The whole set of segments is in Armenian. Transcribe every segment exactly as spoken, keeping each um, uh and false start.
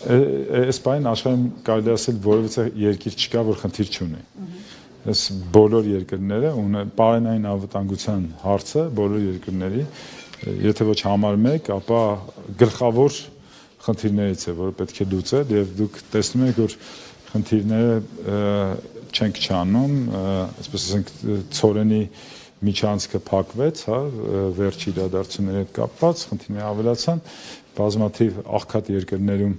Այս բանին աշխարհում կարելի է ասել որևէ երկիր չկա, որ խնդիր չունի։ Այս բոլոր երկրները ունեն պարենային անվտանգության հարցը բոլոր երկրների, եթե ոչ համարում եք, ապա գլխավոր խնդիրներից է, որը պետք է լուծել, եւ դուք տեսնում եք, որ խնդիրները չենք չանում, այսպես ասենք, ցորենի միջանցքը փակվեց, հա, վերջի իրադարձությունների հետ կապված, խնդիրները ավելացան, բազմաթիվ աղքատ երկրներում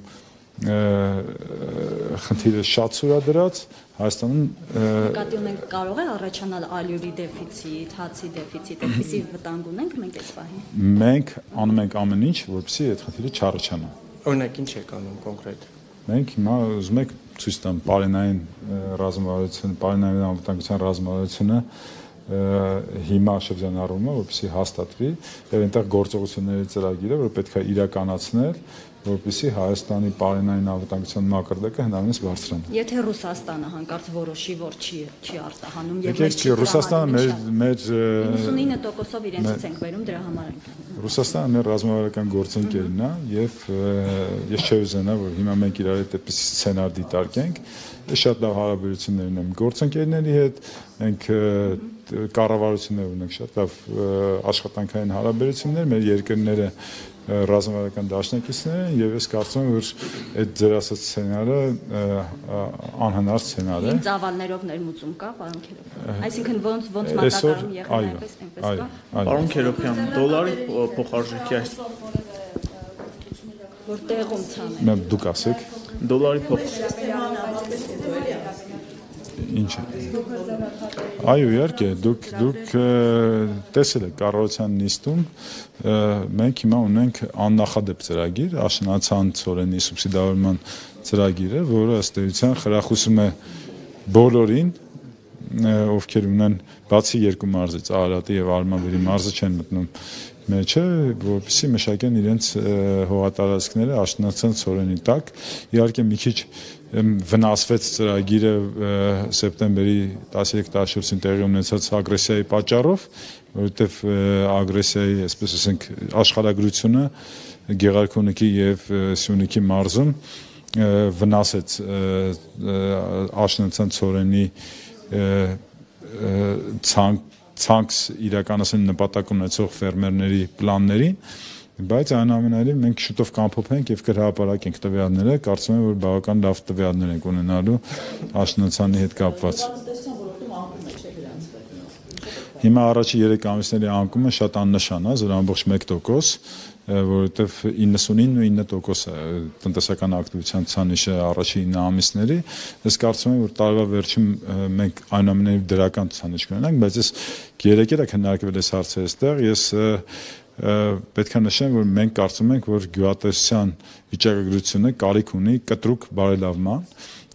խնդիրը շատ սուրադրած, Հայաստանում նկատի ունենք կարող է առաջանալ ալյուրի դեֆիցիտ, հացի դեֆիցիտ, այդպիսի վտանգ ունենք մենք այս պահին։ Մենք անում ենք ամեն ինչ, որպեսզի այդ խնդիրը չառաջանա։ Օրինակ ինչ եք անում կոնկրետ։ Մենք հիմա ուզում ենք ցույց տամ պարենային ռազմավարությունը, պարենային անվտանգության ռազմավարությունը հիմա շրջանառվում է, որպեսզի հաստատվի, եւ այնտեղ գործողությունների ծրագիրը, որ պետք է իրականացնել, որպեսզի Հայաստանի պարենային անվտանգության մակարդակը հնարավորինս բարձրանա։ Եթե Ռուսաստանը հանկարծ որոշի, որ չի չի արտահանում եւ մեր չի Ռուսաստանը մեր մեր իննսունինը տոկոսով իրենցից ենք վերում, դրա համար ենք։ Ռուսաստանը մեր ռազմավարական գործընկերն է եւ ես չէ ուզենա, որ հիմա մենք իրար հետ այդպես սցենար դիտարկենք, շատ լավ հարաբերություններ ունենք գործընկերների հետ, մենք կառավարություններ ունենք շատ լավ աշխատանքային հարաբերություններ, մեր երկրները ռազմավարական դաշնակիցներ են եւ ես կարծում եմ, որ այդ ձեր ասած սցենարը անհնար սցենար է։ Ինչ ծավալներով ներմուծում կա, պարոն Քերոբյան։ Այսինքն ոնց ոնց մատակարարում եղել այնպես այնպես կա։ Պարոն Քերոբյան, դոլարի փոխարժեքի այս որ տեղում ցանել։ Դուք ասեք։ Դոլարի փոխարժեքի Ինչ է։ Այո, իհարկե, դուք դուք տեսել եք կառավարության նիստում մենք հիմա ունենք աննախադեպ ծրագիր, աշնանացան ցորենի սուբսիդավորման ծրագիրը, որը ըստ էության խրախուսում է բոլորին, ովքեր ունեն բացի երկու մարզից, Արարատի եւ Արմավիրի մարզը չեն մտնում մեջը, որպեսզի մշակեն իրենց հողատարածքները աշնանացան ցորենի տակ։ Իհարկե մի քիչ վնասվեց ծրագիրը սեպտեմբերի տասներեք տասնչորսին տեղի ունեցած ագրեսիայի պատճառով, որովհետև ագրեսիայի, այսպես ասենք, աշխարհագրությունը Գեղարքունիքի եւ Սյունիքի մարզում վնասեց աշնանացան ցորենի ցանկ ցանց իրականացնել նպատակ ունեցող ֆերմերների պլաններին, բայց այնուամենայնիվ մենք շուտով կամփոփենք եւ կհրապարակենք տվյալները, կարծում եմ, որ բավական լավ տվյալներ ենք ունենալու աշնանացանի հետ կապված։ Հիմա առաջի երեք ամիսների անկումը շատ աննշան է, զոր ամբողջ մեկ տոկոս, որովհետև իննսունինն ու ինը տոկոս է տնտեսական ակտիվության ցանիշը առաջի ինը ամիսների, ես կարծում եմ, որ տարվա վերջում մենք այնուամենայնիվ դրական ցանիշ կունենանք, բայց ես երեկ էլ քննարկվել այս հարցը այստեղ, ես պետք է նշեմ, որ մենք կարծում ենք, որ գյուղատնտեսության վիճակագրությունը կարիք ունի կտրուկ բարելավման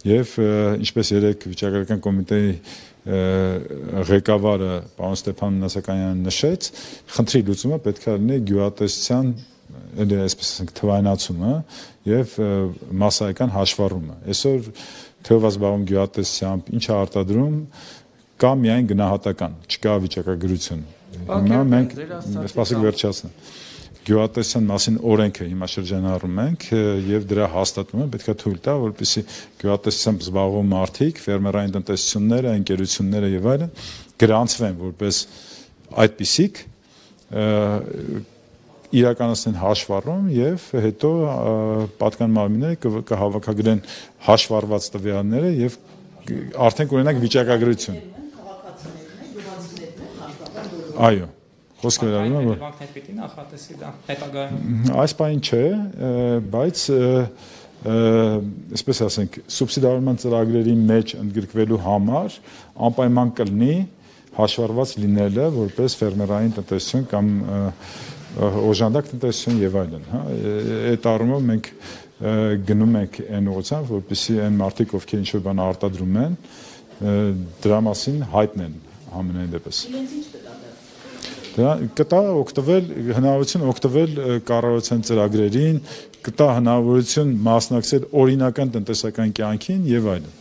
եւ ինչպես երեք վիճակագրական կոմիտեի ղեկավարը պարոն Ստեփան Մնասականյանը նշեց, խնդրի լուծումը պետք է լինի գյուղատնտեսության, այսպես ասենք, թվայնացումը եւ մասսայական հաշվառումը։ Այսօր թեւով զբաղվում գյուղատնտեսությամբ, ինչ է արտադրում, կա միայն գնահատական, չկա վիճակագրություն։ Հիմա մենք սպասեք վերջացնեմ։ Գյուղատնտեսության մասին օրենքը հիմա շրջանառում ենք եւ դրա հաստատումը պետք է թույլ տա, որպեսզի գյուղատնտեսությամբ զբաղվող մարդիկ, ֆերմերային տնտեսությունները, ընկերությունները եւ այլն գրանցվեն որպես այդպիսիք իրականացնեն հաշվառում եւ հետո պատկան մարմինները կհավաքագրեն հաշվառված տվյալները եւ արդեն կունենանք վիճակագրություն։ Այո, խոսքը վերաբերում է, որ հետևանքներ պիտի նախատեսի դա հետագայում։ Այս բանը չէ, բայց այսպես ասենք, սուբսիդավորման ծրագրերի մեջ ընդգրկվելու համար անպայման կլինի հաշվառված լինելը որպես ֆերմերային տնտեսություն կամ օժանդակ տնտեսություն եւ այլն, հա, այդ առումով մենք գնում ենք այն ուղղությամբ, որպեսզի այն մարդիկ, ովքեր ինչ-որ բան արտադրում են, դրա մասին հայտնեն ամենայն դեպս։ Դրա կտա օգտվել հնարավորություն օգտվել կառավարության ծրագրերին, կտա հնարավորություն մասնակցել օրինական տնտեսական կյանքին եւ այլն։